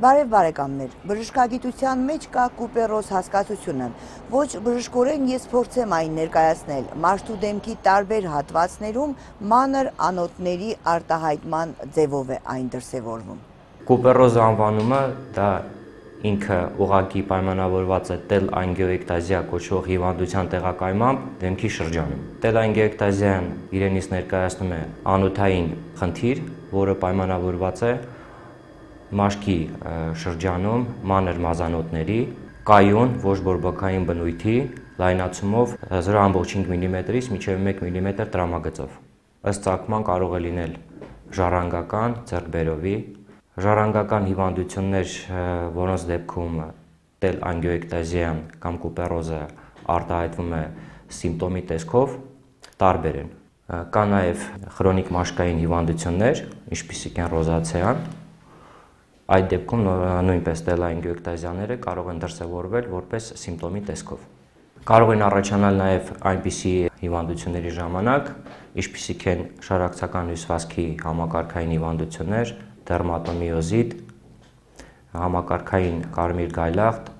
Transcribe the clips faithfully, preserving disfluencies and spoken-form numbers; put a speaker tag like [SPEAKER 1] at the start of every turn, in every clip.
[SPEAKER 1] Բարև բարեկամներ, բժշկագիտության մեջ կա կուպերոզ հասկացությունը, ոչ բժշկորեն ես փորձեմ այն ներկայացնել, մարդու դեմքի տարբեր հատվածներում մանր անոթների արտահայտման ձևով է այն դրսևորվում։
[SPEAKER 2] Կուպերոզ անվանումը դա ինքը ուղղակի պայմանավորված է տելանգիոէկտազիա կոչվող հիվանդության տեղակայմամբ դեմքի շրջանում։ Տելանգիոէկտազիան իրենից ներկայացնում է անոթային խնդիր, որը պայմանավորված է մաշկի շրջանում մանր մազանոթների կայուն ոչ բորբոքային բնույթի լայնացումով զրո կόμμα պինգ միլիմետրից մինչև մեկ միլիմետր տրամագծով։ Ըստ ծագման կարող է լինել ժառանգական, ձեռքբերովի, ժառանգական հիվանդություններ, որոնց դեպքում տելանգիոէկտազիան կամ կուպերոզը արտահայտվում է սիմպտոմի տեսքով, տարբեր են։ Կա նաև խրոնիկ մաշկային հիվանդություններ, ինչպիսիք են ռոզացեան, այդ դեպքում նույնպես տելանգիոէկտազիաները կարող են դրսևորվել որպես սիմպտոմի տեսքով։ Կարող են առաջանալ նաև այնպիսի հիվանդությունների ժամանակ, ինչպիսիք են շարակցական հյուսվածքի համակարգային հիվանդություններ, դերմատոմիոզիտ, համակարգային կարմիր գայլաղտ,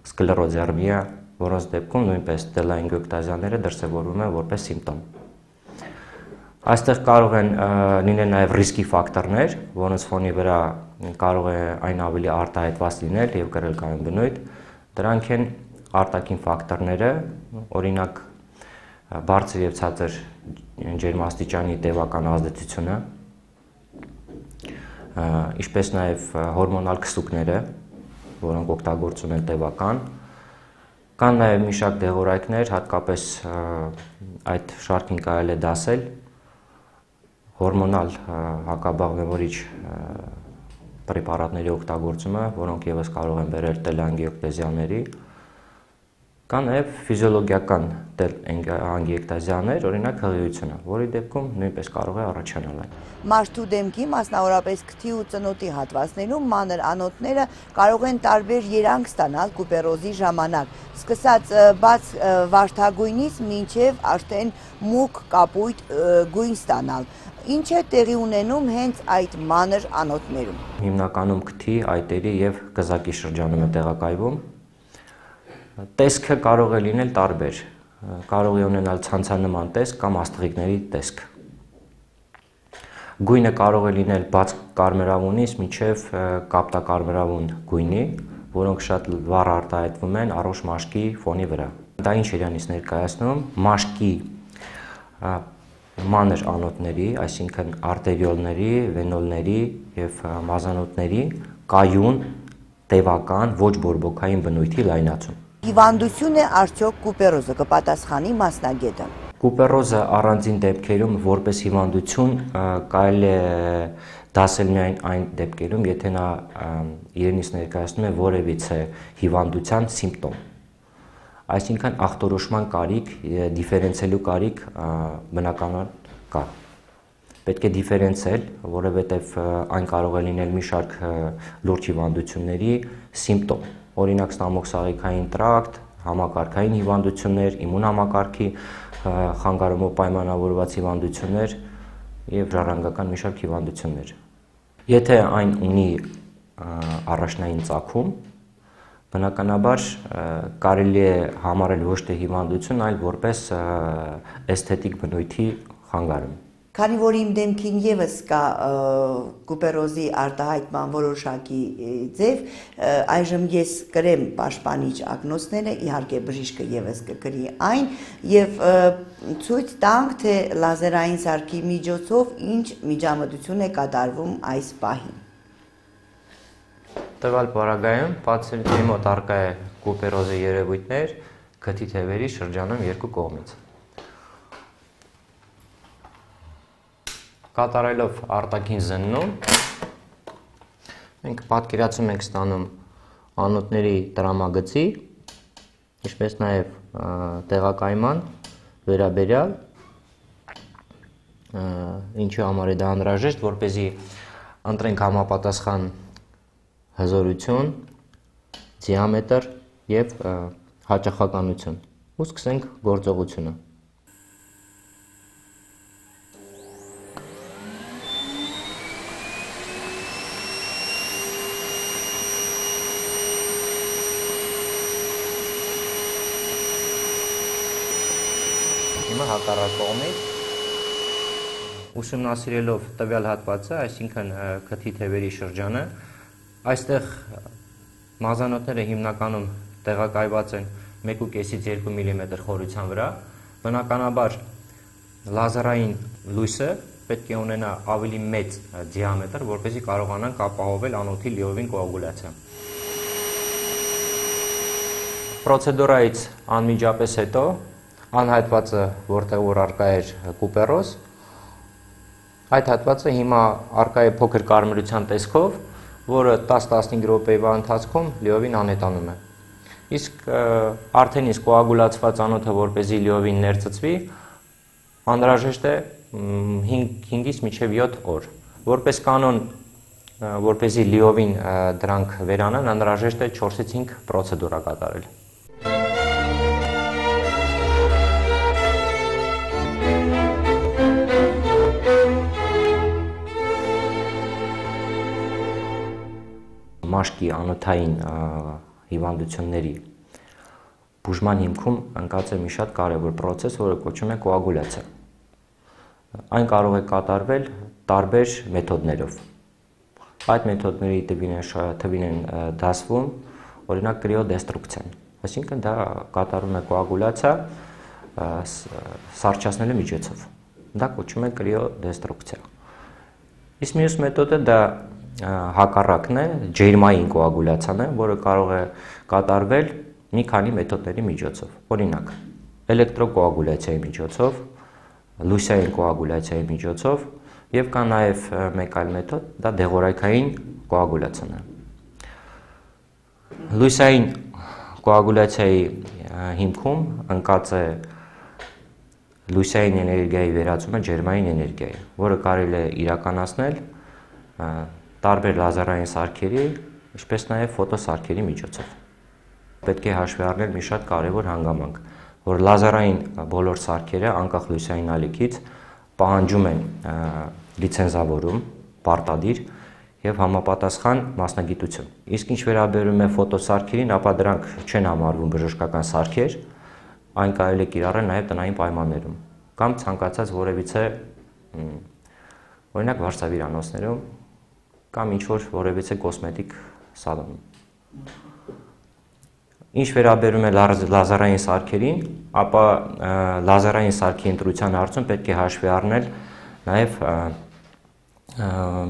[SPEAKER 2] սկլերոդերմիա, որոնց դեպքում նույնպես տելանգիոէկտազիաները դրսևորվում են որպես սիմպտոմ։ Այստեղ կարող են լինել նաև ռիսկի ֆակտորներ, որոնց ֆոնի վրա կարող է այն ավելի արտահայտված լինել եւ կրել կայուն բնույթ։ Դրանք են արտաքին ֆակտորները, օրինակ բարձր եւ ցածր ջերմաստիճանի տևական ազդեցությունը, ինչպես նաև հորմոնալ քսուկները, որոնք օգտագործում են տևական, կան նաև մի շարք դեղորայքներ, հատկապես այդ շարքին կարելի է դասել հորմոնալ հակաբաղբևորիչ պրեպարատների օգտագործումը, որոնք ևս կարող են բերել տելանգիոէկտազիաների, կա նաև ֆիզիոլոգիական տելանգիոէկտազիաներ, օրինակ հղիությունը, որի դեպքում նույնպես կարող է առաջանալ այն։
[SPEAKER 1] Մարդու դեմքի, մասնավորապես քթի ու ծնոտի հատվածներում մանր անոթները կարող են տարբեր երանգ ստանալ կուպերոզի ժամանակ, սկսած բաց վարդագույնից մինչև արդեն մուգ կապույտ գույն ստանալ։ Ինչ է տեղի ունենում հենց այդ մանր անոթներում։
[SPEAKER 2] Հիմնականում քթի, այտերի եւ կզակի շրջանում է տեղակայվում։ Տեսքը կարող է լինել տարբեր, կարող է ունենալ ցանցանման տեսք կամ աստղիկների տեսք։ Գույնը կարող է լինել բաց կարմրավունից մինչև կապտակարմրավուն գույնի, որոնք շատ վառ արտահայտվում են առողջ մաշկի ֆոնի վրա։ Դա ինչ է իրանից ներկայացնում, մաշկի մանր անոթների, այսինքն արտերիոլների, վենոլների եւ մազանոթների կայուն, տևական, ոչ բորբոքային բնույթի լայնացում։
[SPEAKER 1] Հիվանդություն է արդյոք կուպերոզը, կպատասխանի մասնագետը։
[SPEAKER 2] Կուպերոզը առանձին դեպքերում որպես հիվանդություն կարելի է դասել միայն այն դեպքերում, եթե նա իրենից ներկայացնում է որևիցե հիվանդության սիմպտոմ։ Այսինքն ախտորոշման կարիք, դիֆերենցիալու կարիք բնականաբար կա։ Պետք է դիֆերենցիալ, որովհետև այն կարող է լինել մի շարք լուրջ հիվանդությունների սիմպտոմ, օրինակ ստամոքսաղիքային տրակտ, համակարգային հիվանդություններ, իմուն համակարգի խանգարումով պայմանավորված հիվանդություններ եւ ժառանգական մի շարք հիվանդություններ։ Եթե այն ունի առաջնային ծագում, բնականաբար կարելի է համարել ոչ թե հիվանդություն, այլ որպես էսթետիկ բնույթի խանգարում։
[SPEAKER 1] Քանի որ իմ դեմքին ևս կա կուպերոզի արտահայտման որոշակի ձև, այժմ ես կրեմ պաշտպանիչ ակնոցները, իհարկե բժիշկը ևս կկրի այն եւ ցույց տանք, թե լազերային սարքի միջոցով ինչ միջամտություն է կատարվում այս պահին։
[SPEAKER 2] Տվյալ պարագայում պացիենտի մոտ առկա է կուպերոզի երևույթներ քթի թևերի շրջանում երկու կողմից։ Կատարելով արտաքին զննում, մենք պատկերացում ենք ստանում անոթների տրամագծի, ինչպես նաև տեղակայման վերաբերյալ, ինչի համար է դա անհրաժեշտ, որպեսզի ընտրենք համապատասխան հզորություն, դիամետր եւ հաճախականություն։ Ու սկսենք գործողությունը։ է հակառակ կողմից։ Ուսումնասիրելով տվյալ հատվածը, այսինքն քթի թևերի շրջանը, այստեղ մազանոթները հիմնականում տեղակայված են մեկ ու կեսից երկու միլիմետր խորության վրա, բնականաբար լազերային լույսը պետք է ունենա ավելի մեծ դիամետր, որպեսզի կարողանանք ապահովել անոթի լիովին կոագուլյացիա։ Պրոցեդուրայից անմիջապես հետո անհայտվածը, որտեղ որ առկա էր կուպերոզ, այդ հատվածը հիմա առկա է փոքր կարմրության տեսքով, որը տասը-տասնհինգ րոպեվա ընթացքում լիովին անհետանում է։ Իսկ արդեն իսկ կոագուլացված անոթը, որպեսզի լիովին ներծծվի, անհրաժեշտ է հինգից մինչև յոթ օր։ Որպես կանոն, որպեսզի լիովին դրանք վերանան, անհրաժեշտ է չորսից հինգ պրոցեդուրա կատարել։ Մաշկի անոթային հիվանդությունների բուժման հիմքում ընկած է մի շատ կարևոր պրոցես, որը կոչվում է կոագուլյացիա։ Այն կարող է կատարվել տարբեր մեթոդներով։ Այդ մեթոդների թվին են դասվում, օրինակ կրիոդեստրուկցիան, այսինքն դա կատարում է կոագուլյացիա սառչացնելու միջոցով։ Դա կոչվում է կրիոդեստրուկցիա։ Իսկ մյուս մեթոդը դա հակառակն է, ջերմային կոագուլյացիան է, որը կարող է կատարվել մի քանի մեթոդների միջոցով։ Օրինակ, էլեկտրոկոագուլյացիայի միջոցով, լույսային կոագուլյացիայի միջոցով եւ կա նաեւ մեկ այլ մեթոդ, դա դեղորայքային կոագուլյացիան է։ Լույսային կոագուլյացիայի հիմքում ընկած է լույսային էներգիայի վերածումը ջերմային էներգիայի, որը կարելի է իրականացնել տարբեր լազերային սարքերի, ինչպես նաև ֆոտոսարքերի միջոցով։ Պետք է հաշվի առնել մի շատ կարևոր հանգամանք, որ լազերային բոլոր սարքերը անկախ լույսային ալիքից պահանջում են լիցենզավորում, պարտադիր եւ համապատասխան մասնագիտություն։ Իսկ ինչ վերաբերում է ֆոտոսարքերին, ապա դրանք չեն համարվում բժշկական սարքեր, այն կարելի է կիրառել նաև տնային պայմաններում կամ ցանկացած որևիցե օրինակ վարսավիրանոցներում կամ ինչ-որ որևիցե կոսմետիկ սալոնում։ Ինչ վերաբերում է լազերային սարքերին, ապա լազերային սարքի ընտրության հարցում պետք է հաշվի առնել նաև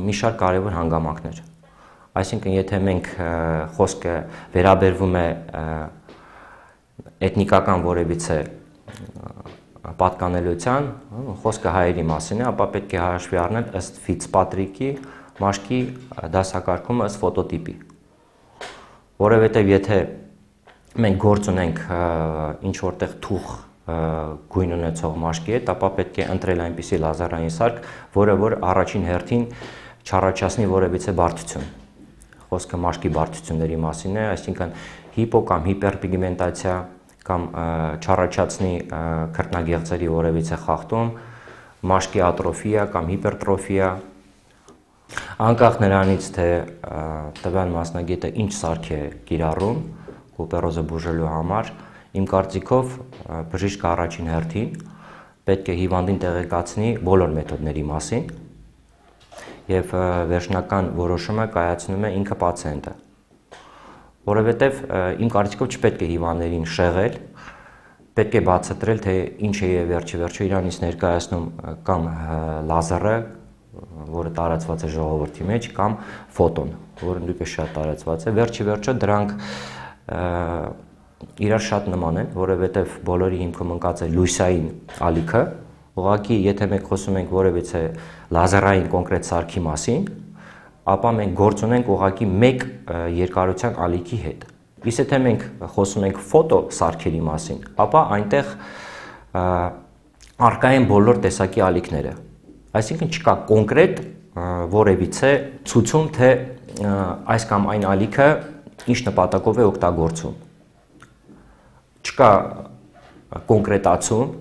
[SPEAKER 2] մի շարք կարևոր հանգամանքներ։ Այսինքն, եթե մենք խոսքը վերաբերվում է էթնիկական որևիցե պատկանելիության, խոսքը հայերի մասին է, ապա պետք է հաշվի առնել ըստ Ֆիցպատրիկի մաշկի դասակարգումը ըստ ֆոտոտիպի, որովհետև եթե մենք գործ ունենք ինչ որտեղ թուխ գույն ունեցող մաշկի հետ, ապա պետք է ընտրել այնպիսի լազերային սարք, որը որ առաջին հերթին չառաջացնի որևիցե բարդություն։ Խոսքը մաշկի բարդությունների մասին է, այսինքն հիպո կամ հիպերպիգմենտացիա կամ չառաջացնի քրտնագեղձերի որևիցե խախտում, մաշկի ատրոֆիա կամ հիպերտրոֆիա, անկախ նրանից, թե տվյալ մասնագետը ինչ սարք է կիրառում կուպերոզը բուժելու համար, իմ կարծիքով բժիշկը առաջին հերթին պետք է հիվանդին տեղեկացնի բոլոր մեթոդների մասին եւ վերջնական որոշումը կայացնում է ինքը պացիենտը, որովհետեւ իմ կարծիքով չպետք է հիվանդներին շեղել, պետք է բացատրել, թե ինչ է վերջի վերջո իրանից ներկայացնում կամ լազերը, որը տարածված է ժողովրդի մեջ, կամ ֆոտոն, որը նույնպես շատ տարածված է, վերջի վերջո դրանք իրար շատ նման են, որովհետև բոլորի հիմքում ընկած է լույսային ալիքը, ուղղակի եթե մենք խոսում ենք որևիցե լազերային կոնկրետ սարքի մասին, ապա մենք գործ ունենք ուղղակի մեկ երկարության ալիքի հետ։ Իսկ եթե մենք խոսում ենք ֆոտո սարքերի մասին, ապա այնտեղ առկա են բոլոր տեսակի ալիքները։ Այսինքն չկա կոնկրետ որևիցե ցուցում, թե այս կամ այն ալիքը ինչ նպատակով է օգտագործում։ Չկա կոնկրետացում,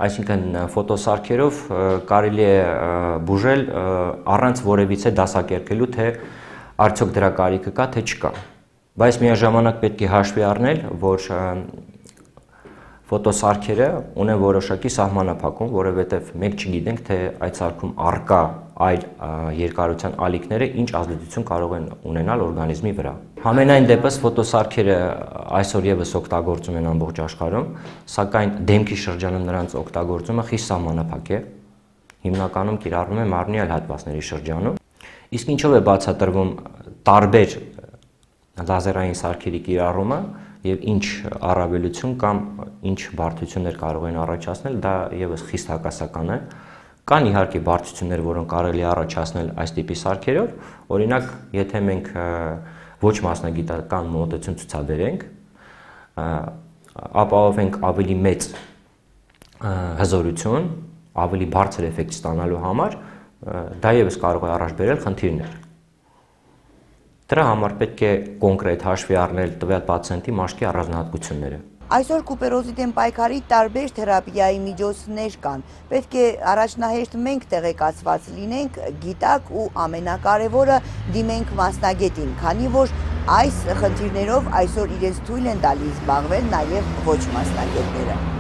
[SPEAKER 2] այսինքն ֆոտոսարքերով կարելի է բուժել առանց որևիցե դասակերկելու, թե արդյոք դրա կարիքը կա, թե չկա։ Բայց միաժամանակ պետք է հաշվի առնել, որ ֆոտոսարքերը ունեն որոշակի սահմանափակում, որովհետև մենք չգիտենք, թե այդ սարքում առկա այլ երկարության ալիքները ինչ ազդեցություն կարող են ունենալ օրգանիզմի վրա։ Համենայն դեպս ֆոտոսարքերը այսօր եւս օգտագործում են ամբողջ աշխարհում, սակայն դեմքի շրջանում նրանց օգտագործումը խիստ սահմանափակ է։ Հիմնականում կիրառվում է մարմնի այլ հատվածների շրջանում։ Իսկ ինչով է բացատրվում տարբեր լազերային սարքերի կիրառումը եւ ինչ առավելություն կամ ինչ բարդություններ կարող են առաջացնել, դա եւս խիստ հակասական է։ Կան իհարկե բարդություններ, որոնք կարելի է առաջացնել այս տիպի սարքերով, օրինակ, եթե մենք ոչ մասնագիտական մոտեցում ցուցաբերենք, ապահովենք ավելի մեծ հզորություն, ավելի բարձր էֆեկտ ստանալու համար, դա եւս կարող է առաջ բերել խնդիրներ։ Դրա համար պետք է կոնկրետ հաշվի առնել տվյալ պացիենտի մաշկի առանձնահատկությունները։
[SPEAKER 1] Այսօր կուպերոզի դեմ պայքարի տարբեր թերապիայի միջոցներ կան։ Պետք է առաջնահերթ մենք տեղեկացված լինենք, գիտակ ու ամենակարևորը դիմենք մասնագետին, քանի որ այս խնդիրներով այսօր իրենց թույլ են տալիս զբաղվել նաև ոչ մասնագետները։